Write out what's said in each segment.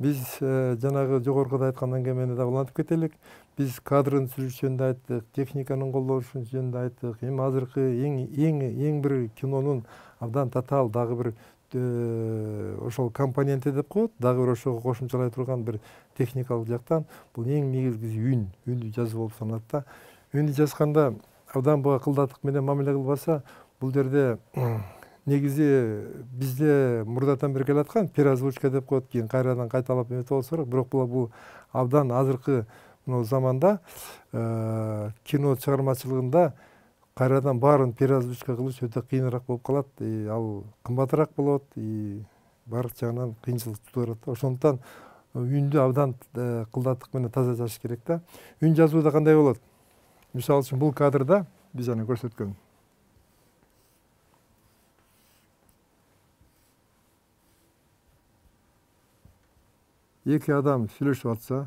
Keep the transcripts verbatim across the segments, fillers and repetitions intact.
биз жанагы жогоркуда айткан әңгемени да улантып кетелик. Биз кадрын түзүш жөнүндө айттык, техниканын колдоnuшу жөнүндө айттык. Эми азыркы эң эң эң бир кинонун абдан татаал дагы бир ошол компоненти деп коет, дагы бир ошого кошумчалай турган бир техникалык жактан бул эң негизгиси үн, үндү жазуу болуп саналат да. Үндү жазганда абдан буга кылдаттык менен мамиле кылбаса, бул жерде негизи бизде мурдатан бери келаткан переозвучка деп коет, кийин кайрадан кайталап эметип болсо керек, бирок бул абдан азыркы мына заманда кино чыгармачылыгында кайрадан баарын переозвучка кылыш өтө кыйыныраак болуп калат. Ал кымбатыраак болот, баардык жагынан кыйынчылык тудурат да. Ошондуктан үндү абдан кылдаттык менен таза жазыш керек да. Үн жазууда кандай болот? Мисалы үчүн бул кадрда биз аны көрсөткөн. Эки адам сүйлөшүп атса,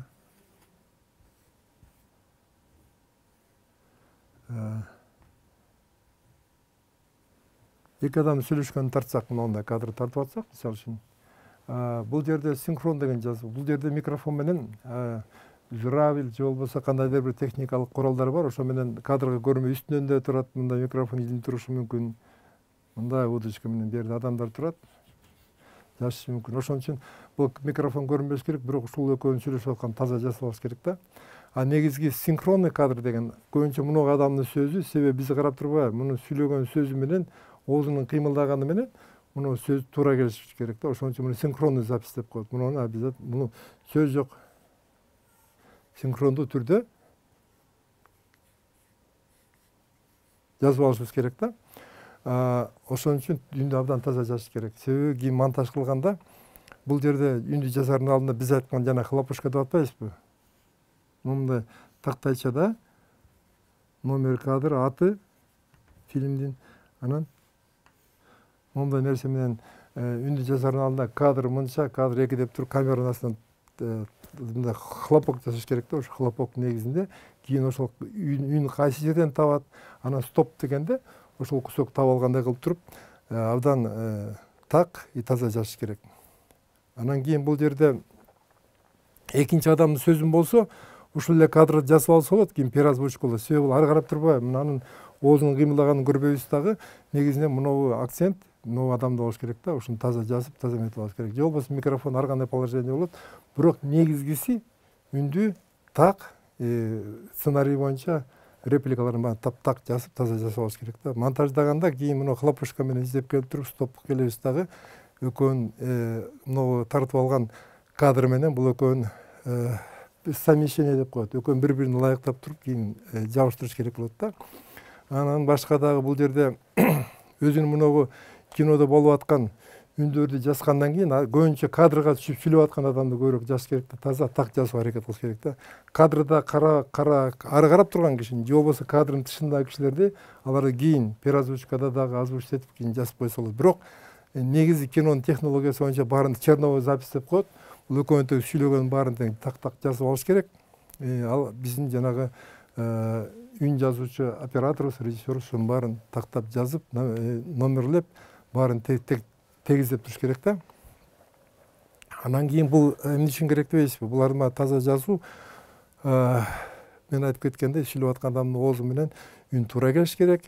эки адам сүйлөшкөнүн тартсак, мындай кадр тартып атсак, мисалы үчүн, бул жерде синхрон деген жазуу. Бул жерде микрофон менен журавль же болбосо кандайдыр бир техникалык куралдар бар. Ошо менен кадрга көрүнбөй үстүнөн да турат, мындай микрофон илинип турушу мүмкүн. Мындай удочка менен бу жерде адамдар турат, жазышы мүмкүн. Ошон үчүн бул микрофон көрүнбөш керек, бирок ушул экөөнүн сүйлөшүп аткан таза жасалыш керек да. А негизги синхронный кадр деген көбүнчө мунуга адамдын сөзү, себеби биз карап турбайбы, мунун сүйлөгөн сөзү менен оозунун кыймылдаганы менен муну сөз туура келиши керек да. Ошон үчүн муну синхронный запись деп коет. Муну обязательно муну сөз жок, синхрондуу түрдө жазып алышыбыз керек да. Ошон үчүн үндү абдан таза жазыш керек. Себеби кийин монтаж кылганда бул жерде үндү жазардын алдында биз айткан жана хлопушка деп атпайбызбы? Мындай тактайчада номер кадр аты фильмдин, анан мындай нерсе менен үндү жазардын алдында кадр мынча, кадр эки деп туруп камеранын астынан мындай хлопок жасаш керек да. Ошо хлопок негизинде кийин ошол үн кайсы жерден табат, анан стоп дегенде ошол кусок таап алгандай кылып туруп абдан так и таза жазыш керек. Анан кийин бул жерде экинчи адамдын сөзүн болсо, ушул эле кадрды жазып алса болот, кийин переозвучка болот. Себеби ары карап турбайбы, мынанын оозунун кыймылдаганын көрбөйбүз дагы, негизинен мынабу акцент могу адамда болуш керек да. Ушуну таза жазып, таза эметип алыш керек. Же болбосо микрофон ар кандай положение болот. Бирок негизгиси үндү так сценарий боюнча репликаларын баарын таптак жазып, таза жазып алыш керек да. Монтаждаганда кийин муну хлопушка менен издеп келип туруп, стоп келебиз дагы экөөнүн могу тартып алган кадр менен бул экөөнүн совмещение деп коет. Экөөнүн бири-бирин ылайыктап туруп кийин жабыштырыш керек болот да. Анан башка дагы бул жерде өзүнүн мунагу кинодо болуп аткан үндөрдү жазгандан кийин көбүнчө кадрга түшүп сүйлөп аткан адамды көбүрөөк жазыш керек да. Таза так жазууга аракет кылыш керек да. Кадрда кара кара ары карап турган кишини же болбосо кадрдын тышындагы кишилерди аларды кийин переозвучкада дагы озвучить этип кийин жазып койсо болот. Бирок негизи кинонун технологиясы боюнча баарын черновой запись деп коет. Бул экөөнүн тең сүйлөгөнүн баарын тең так-так жазып алыш керек. Ал биздин жанагы үн жазуучу операторубуз, режиссерубуз ушунун баарын тактап жазып, номерлеп, баарын тегиздеп туруш керек да. Анан кийин бул эмне үчүн керек дебейсизби? Булар таза жазуу. Мен айтып кеткендей, сүйлөп аткан адамдын оозу менен үн туура келиш керек.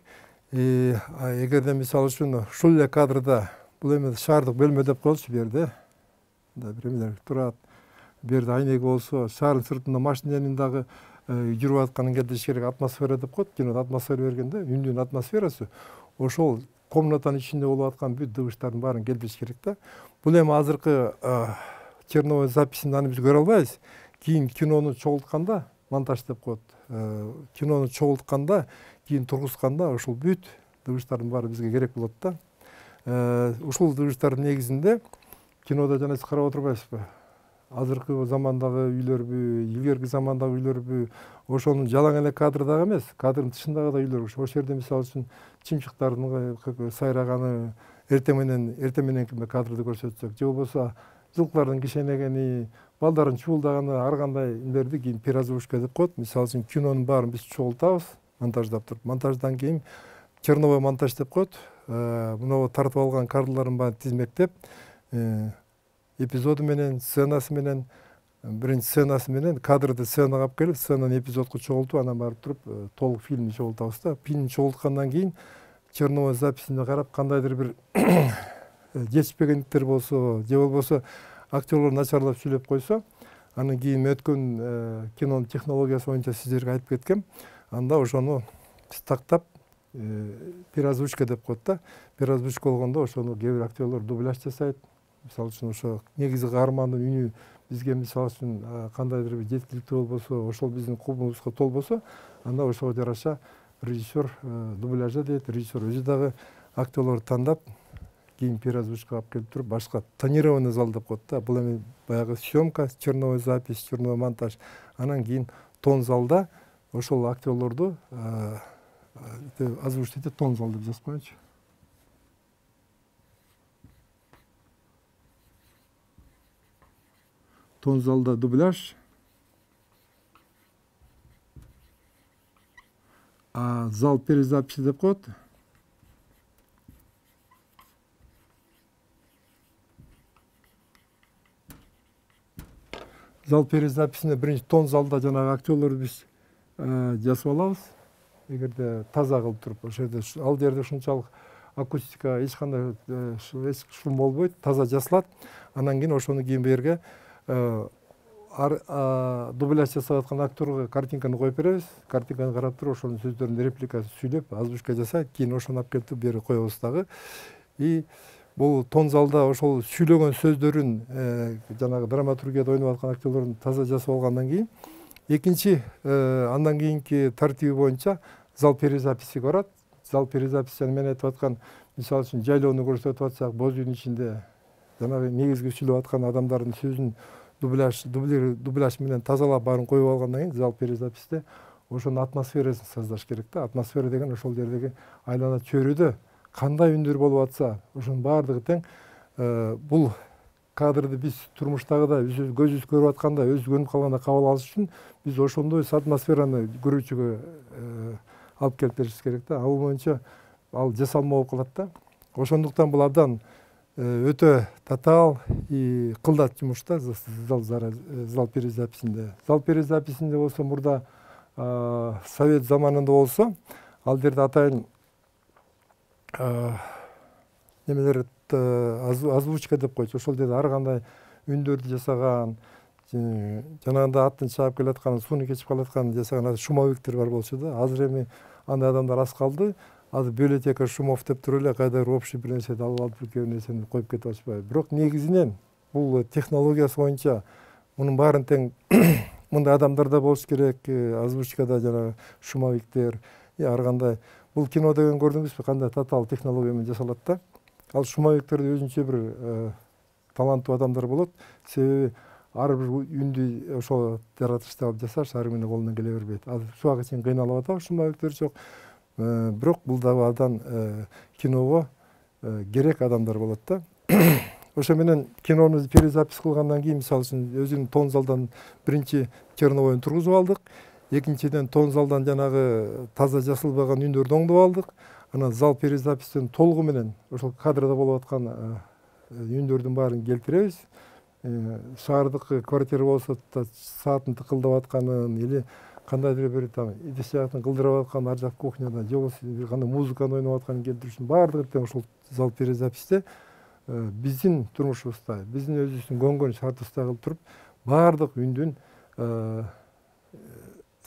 Эгерде мисалы үчүн ушул эле кадрда бул эме шаардык бөлмө деп коелучу, бу жерде мындай бир эмелер турат. Бу жерде айнеги болсо, шаардын сыртында машинанын дагы жүрүп атканын келтириш керек. Атмосфера деп коет, кинодо атмосфера бергенде үндүн атмосферасы ошол комнатанын ичинде болуп аткан бүт дыбыштардын баарын келтириш керек да. Бул эми азыркы черновой записинде аны биз көрө албайбыз. Кийин кинону чогултканда, монтаж деп коет. Кинону чогултканда, кийин тургузганда ошол бүт дыбыштардын баары бизге керек болот да. Ушул дыбыштардын негизинде кинодо жана сиз карап отурбайсызбы? Азыркы замандагы үйлөрбү, илгерки замандагы үйлөрбү, ошонун жалаң эле кадрдагы эмес, кадрдын тышындагы да үйлөр. Ошол жерде мисалы үчүн чымчыктардын сайраганы, эртең менен эртең мененки кадрды көрсөтсөк, же болбосо жылкылардын кишенегени, балдардын чуулдаганы, ар кандай эмелерди кийин переозвучка деп коет. Мисалы үчүн кинонун баарын биз чогултабыз, монтаждап туруп. Монтаждан кийин черновой монтаж деп коет. Мына тартып алган кадрлардын баарын тизмектеп, эпизоду менен, сценасы менен, биринчи сценасы менен кадрды сценага алып келип, сценаны эпизодко чогултуп, анан барып туруп толук фильмди чогултабыз да. Фильмди чогулткандан кийин черновой записине карап, кандайдыр бир жетишпегендиктер болсо, же болбосо актерлор начарлап сүйлөп койсо, анан кийин өткөн кинонун технологиясы боюнча сиздерге айтып кеткем. Анда ошону биз тактап переозвучка деп коет да. Переозвучка болгондо ошону кээ бир актерлор дубляж жасайт. Мисалы үчүн ошо негизи каармандын үнү бизге мисалы үчүн кандайдыр бир жеткиликтүү болбосо, ошол биздин кубубузга толбосо, анда ошого жараша режиссер дубляжа дейт, режиссер өзү дагы актерлорду тандап, кийин переозвучка алып келип туруп, башка тонированный зал деп коет да. Бул эми баягы съемка, черновой запись, черновой монтаж. Анан кийин тон залда ошол актерлорду озвучить этип, тон зал деп жазып коеюнчу. Тон залда дубляж, а зал перезаписи деп коет. Зал перезаписине биринчи тон залда жанагы актерлорду биз жасап алабыз. Эгерде таза кылып туруп, ошол жерде ал жерде ушунчалык акустика эч кандай шум болбойт, таза жасалат. Анан кийин ошону кийин берге дубляж жасап аткан актерге картинканы коюп беребиз. Картинканы карап туруп, ошонун сөздөрүн репликасын сүйлөп, озвучка жасайт, кийин ошону алып келип бери коебуз дагы. И бул тон залда ошол сүйлөгөн сөздөрүн жанагы драматургияда ойноп аткан актерлордун таза жасап алгандан кийин, экинчи андан кийинки тартиби боюнча зал перезаписи барат. Зал перезаписи мен айтып аткан, мисалы үчүн жайлоону көрсөтүп атсак, боз үйдүн ичинде жанагы негизги сүйлөп аткан адамдардын сөзүн дубляж дубляж менен тазалап баарын коюп алгандан кийин зал перезаписте ошонун атмосферасын создаш керек да. Атмосфера деген ошол жердеги айлана чөйрөдө кандай үндөр болуп атса, ошонун баардыгы тең. Бул кадрды биз турмуштагыдай көзүбүз көрүп атканда, өзү көнүп калганда кабыл алыш үчүн биз ошондой атмосфераны көрүүчүгө алып келип беришибиз керек да. Ал боюнча ал жасалма болуп калат да. Ошондуктан бул абдан өтө татаал и кылдат жумуш да зал перезаписинде. Зал перезаписинде болсо мурда совет заманында болсо, ал жерде атайын немелер озвучка деп койчу. Ошол жерде ар кандай үндөрдү жасаган, жанагында аттын чаап келаткан, сууну кечип калаткан жасаган шумовиктер бар болчу да. Азыр эми андай адамдар аз калды. Азыр библиотека шумов деп туруп эле кайдыр общий бир нерсени алып алып, бир нерсени коюп кетип атышпайбы. Бирок негизинен бул технологиясы боюнча мунун баарын тең мындай адамдар да болуш керек, озвучкада жанагы шумовиктер, ар кандай. Бул кино деген көрдүңүзбү, кандай татаал технология менен жасалат да. Ал шумовиктерде өзүнчө бир таланттуу адамдар болот. Себеби ар бир үндү ошол жаратышты алып жасаш ар кимдин колунан келе бербейт. Азыр суга чейин кыйналып атабыз, шумовиктер жок. Бирок бул дагы абдан киного керек адамдар болот да. Ошо менен кинону перезапись кылгандан кийин, мисалы үчүн өзүнүн тон залдан биринчи черновойун тургузуп алдык. Экинчиден тон залдан жанагы таза жасалбаган үндөрдү оңдоп алдык. Анан зал перезапистин толугу менен ошол кадрда болуп аткан үндөрдүн баарын келтиребиз. Шаардык квартира болсо сааттын тыкылдап атканын или кандайдыр бир там идиш жактын кылдырап аткан ар жак кухняда, же болбосо бир кандай музыканы ойноп атканын келтириш үчүн баардыгы тең ошол зал перезаписте биздин турмушубузда, биздин өзүбүздүн көнгөн шартыбызда кылып туруп, баардык үндүн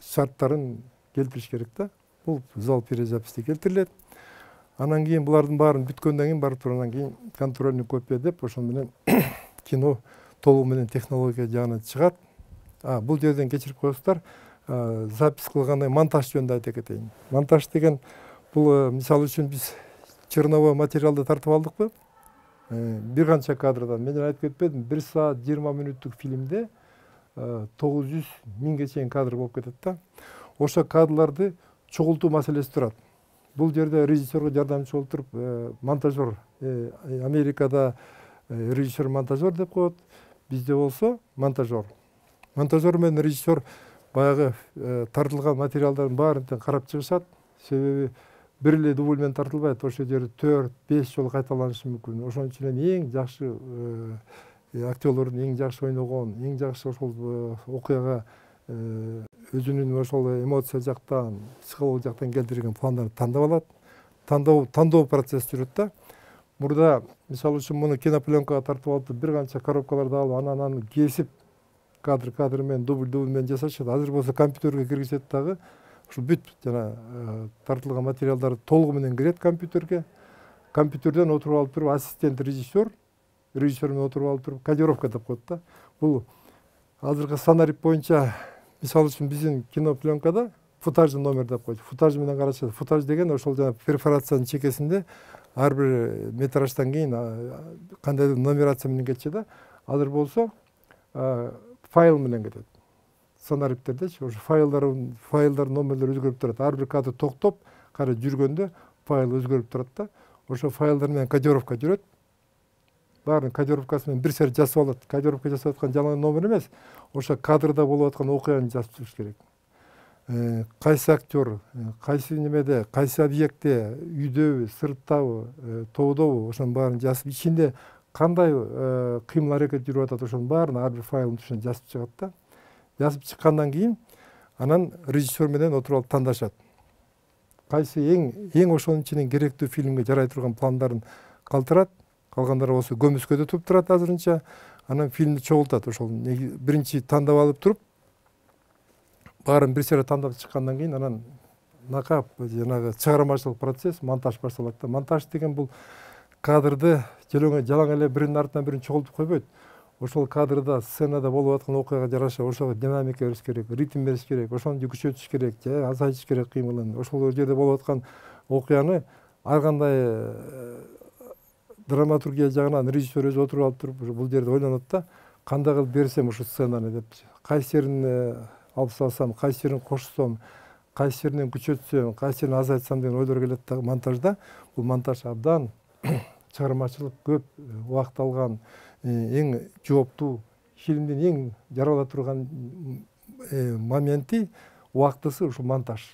шарттарын келтириш керек да. Бул зал перезаписте келтирилет. Анан кийин булардын баарын бүткөндөн кийин барып туруп, анан кийин контрольный копия деп ошол менен кино толугу менен технология жагынан чыгат. А бул жерден кечирип коесуздар, запись кылгандай монтаж жөнүндө айта кетейин. Монтаж деген бул мисалы үчүн биз черновой материалды тартып алдыкпы? Бир канча кадрдан, мен айтып кетпедим, бир саат жыйырма мүнөттүк фильмде тогуз жүз миңге чейин кадр болуп кетет да. Ошо кадрларды чогултуу маселеси турат. Бул жерде режиссерге жардамчы болуп туруп, монтажер, Америкада режиссер-монтажер деп коет, бизде болсо монтажер. Монтажер менен режиссер баягы тартылган материалдардын баарын тең карап чыгышат. Себеби бир эле дубль менен тартылбайт, ошол жерде төрт беш жолу кайталанышы мүмкүн. Ошон үчүн эң жакшы актерлордун эң жакшы ойногон, эң жакшы ошол окуяга өзүнүн ошол эмоция жактан, психология жактан келтирген пландарды тандап алат. Тандоо тандоо процесси жүрөт да. Мурда мисалы үчүн муну кинопленкага тартып алып, бир канча коробкаларды алып, анан аны кесип, кадр кадр менен, дубль дубль менен жасашат. Азыр болсо компьютерге киргизет дагы, ушул бүт жана тартылган материалдар толугу менен кирет компьютерге. Компьютерден отуруп алып туруп, ассистент режиссер, режиссер менен отуруп алып туруп, кодировка деп коет да. Бул азыркы сценарий боюнча, мисалы үчүн биздин кинопленкада футажный номер деп коет. Футаж менен карашат. Футаж деген ошол жана перфорациянын чекесинде ар бир метраждан кийин кандайдыр нумерация менен кетчү да. Азыр болсо файл менен кетет. Сценарийдердечи ошо файлдар файлдар номерлери өзгөрүп турат. Ар бир кадр токтоп, кара жүргөндө файл өзгөрүп турат да. Ошо файлдар менен кодировка жүрөт. Баарын кодировкасы менен бир серт жасап алат. Кодировка жасап аткан жалаң номер эмес, ошо кадрда болуп аткан окуяны жазып чыгыш керек. Кайсы актер, кайсы немеде, кайсы объектте, үйдөбү, сырттабы, тоодобу, ошонун баарын жазып, ичинде кандай кыймыл аракет жүрүп атат, ошонун баарын ар бир файлдын түшүнө жазып чыгат да. Жазып чыккандан кийин анан режиссер менен отуруп алып тандашат. Кайсы эң эң ошонун ичинен керектүү фильмге жарай турган пландарын калтырат, калгандары болсо көмүскөдө туруп турат азырынча. Анан фильмди чогултат. Ошол биринчи тандап алып туруп, баарын бир сере тандап чыккандан кийин анан накап жанагы чыгармачылык процесс, монтаж башталат да. Монтаж деген бул кадрды жалаң эле биринин артынан бирин чогултуп койбойт. Ошол кадрда, сценада болуп аткан окуяга жараша ошого динамика бериш керек, ритм бериш керек, ошону күчөтүш керек, же азайтыш керек кыймылын. Ошол жерде болуп аткан окуяны ар кандай драматургия жагынан режиссер өзү отуруп алып туруп, бул жерде ойлонот да, кандай кылып берсем ушул сценаны деп, кайсы жерин алып салсам, кайсы жерин кошсом, кайсы жеринен күчөтсөм, кайсы жерин азайтсам деген ойлор келет да монтажда. Бул монтаж абдан чыгармачылык көп убакыт алган, эң жооптуу, фильмдин эң жарала турган моменти, убактысы ушул монтаж.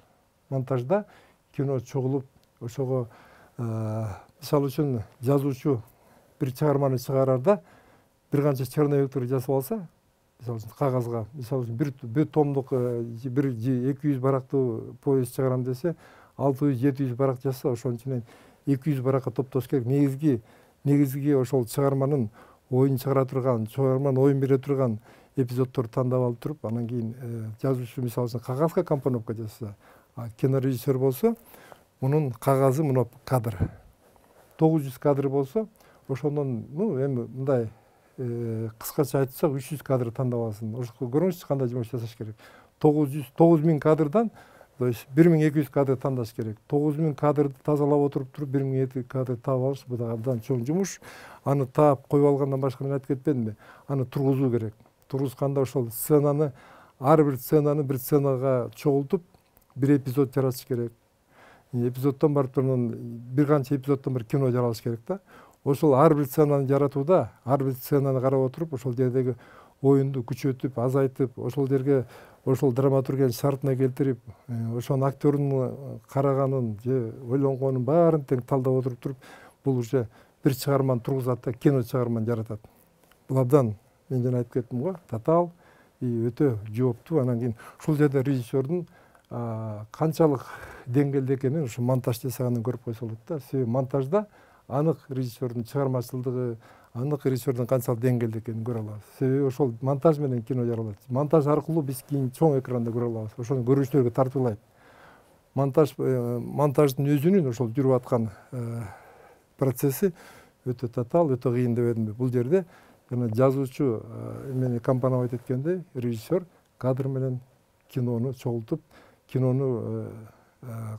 Монтажда кино чогулуп, ошого мисалы үчүн жазуучу бир чыгарманы чыгарарда бир канча черновиктер жасап алса, мисалы үчүн кагазга, мисалы үчүн бир бир томдук бир эки жүз барактуу повесть чыгарам десе, алты жүз жети жүз барак жазса, ошонун ичинен эки жүз баракка топтош керек. Негизги негизги ошол чыгарманын оюн чыгара турган, чыгарманын оюн бере турган эпизоддорду тандап алып туруп, анан кийин жазуучу мисалы үчүн кагазга компоновка жасаса, кинорежиссер болсо, мунун кагазы мына кадр. тогуз жүз кадр болсо, ошондон, ну, эми мындай кыскача айтсак, үч жүз кадр тандап алсын. Ошого көрүңүзчү кандай жумуш жасаш керек. тогуз жүз тогуз миң кадрдан, то есть бир миң эки жүз кадр тандаш керек. тогуз миң кадрды тазалап отуруп туруп, бир миң эки жүз кадр таап алыш, бул да абдан чоң жумуш. Аны таап коюп алгандан башка мен айтып кетпедимби? Аны тургузуу керек. Тургузганда ошол сценаны, ар бир сценаны бир сценага чогултуп, бир эпизод жаратыш керек. Эпизоддон барып турган, бир канча эпизоддон бир кино жаралыш керек да. Ошол ар бир сценаны жаратууда, ар бир сценаны карап отуруп, ошол жердеги оюнду күчөтүп, азайтып, ошол жерге ошол драматургиянын шартына келтирип, ошонун актердун караганын же ойлонгонун баарын тең талдап отуруп туруп, бул уже бир чыгарманы тургузат да, кино чыгарманы жаратат. Бул абдан, мен жана айтып кеттим го, татаал, өтө жооптуу. Анан кийин ушул жерде режиссердун канчалык деңгээлде экенин ушу монтаж жасагандан көрүп койсо болот да. Себеби монтажда анык режиссердун чыгармачылыгы, анык режиссердун канчалык деңгээлде экенин көрө алабыз. Себеби ошол монтаж менен кино жаралат. Монтаж аркылуу биз кийин чоң экранда көрө алабыз. Ошону көрүүчүлөргө тартуулайт. Монтаж монтаждын өзүнүн ошол жүрүп аткан процесси өтө татаал, өтө кыйын деп едимби. Бул жерде жана жазуучу эмени компоновать эткендей, режиссер кадр менен кинону чогултуп, кинону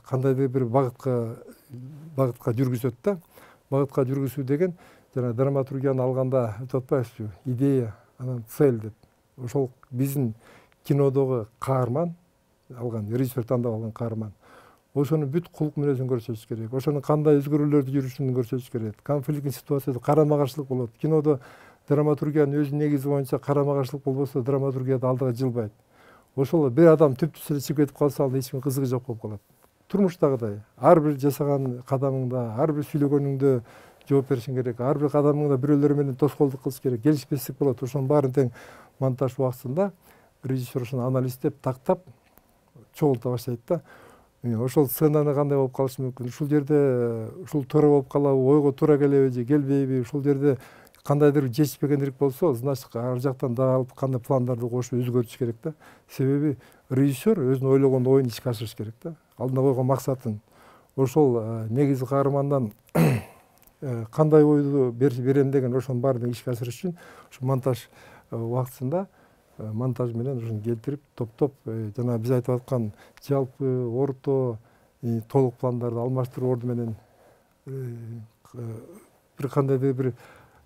кандайдыр бир багытка багытка жүргүзөт да. Багытка жүргүзүү деген жана драматургияны алганда айтып атпайбызбы? Идея, анан цель деп. Ошол биздин кинодогу каарман алган, режиссер тандап алган каарман. Ошонун бүт кулк мүнөзүн көрсөтүш керек. Ошонун кандай өзгөрүүлөрдү жүрүшүн көрсөтүш керек. Конфликттин ситуацияда карама-каршылык болот. Кинодо драматургиянын өзүнүн негизи боюнча карама-каршылык болбосо, драматургияда алдыга жылбайт. Ошол бир адам түптүс эле чыгып кетип калса, ал эч ким кызыгы жок болуп калат. Турмуштагыдай ар бир жасаган кадамыңда, ар бир сүйлөгөнүңдө жооп беришиң керек. Ар бир кадамыңда бирөөлөр менен тоскоолдук кылыш керек. Келишпестик болот. Ошонун баарын тең монтаж убактысында режиссер ошону анализдеп, тактап чогулта баштайт да. Ошол сценаны кандай болуп калышы мүмкүн? Ушул жерде ушул туура болуп калабы, ойго туура келеби же келбейби? Ушул жерде кандайдыр жетишпегендик болсо, значит ар жактан дагы алып кандай пландарды кошуп өзгөртүш керек да. Себеби режиссер өзүнүн ойлогон оюн ишке ашырыш керек да. Алдына койгон максатын. Ошол негизги каармандан кандай ойду берем деген ошонун баарын ишке ашырыш үчүн ушу монтаж убактысында монтаж менен ушуну келтирип, топтоп, жана биз айтып аткан жалпы, орто, толук пландарды алмаштыруу орду менен бир кандайдыр бир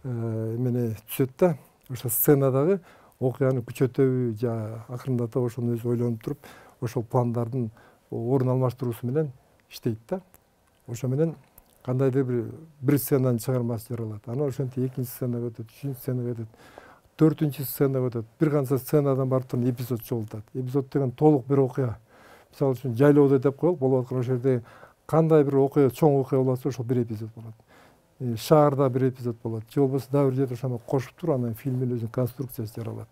эмени түзөт да. Ошо сценадагы окуяны күчөтөбү же акырындатып ошону өзү ойлонуп туруп, ошол пландардын орун алмаштыруусу менен иштейт да. Ошо менен кандайдыр бир бир сценанын чыгармасы жаралат. Анан ошентип экинчи сценага өтөт, үчүнчү сценага өтөт, төртүнчү сценага өтөт. Бир канча сценадан барып туруп эпизод чогултат. Эпизод деген толук бир окуя. Мисалы үчүн жайлоодо деп коелук, болуп аткан ошол жерде кандай бир окуя, чоң окуя болот, ошол бир эпизод болот. Шаарда бир эпизод болот. Же болбосо дагы бир жерде ошону кошуп туруп, анан фильмдин өзүнүн конструкциясы жаралат.